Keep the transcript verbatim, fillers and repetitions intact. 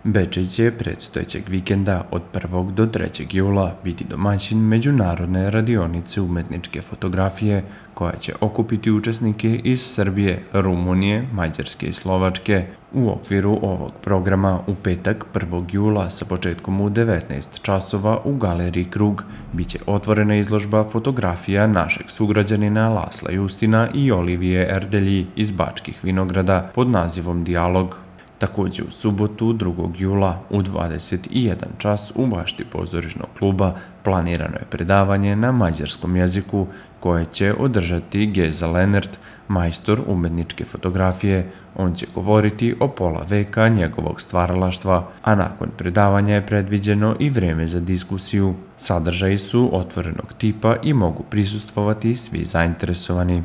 Bečej će predstojećeg vikenda od prvog do trećeg jula biti domaćin međunarodne radionice umetničke fotografije koja će okupiti učesnike iz Srbije, Rumunije, Mađarske i Slovačke. U okviru ovog programa u petak prvog jula sa početkom u devetnaest časova u Galeriji Krug biće otvorena izložba fotografija našeg sugrađanina Lasla Justina i Olivije Erdelji iz Bačkih Vinograda pod nazivom Dijalog. Također u subotu drugog jula u dvadeset jedan čas u bašti pozorišnog kluba planirano je predavanje na mađarskom jeziku koje će održati Geza Lenert, majstor umetničke fotografije. On će govoriti o pola veka njegovog stvaralaštva, a nakon predavanja je predviđeno i vreme za diskusiju. Sadržaji su otvorenog tipa i mogu prisustvovati svi zainteresovani.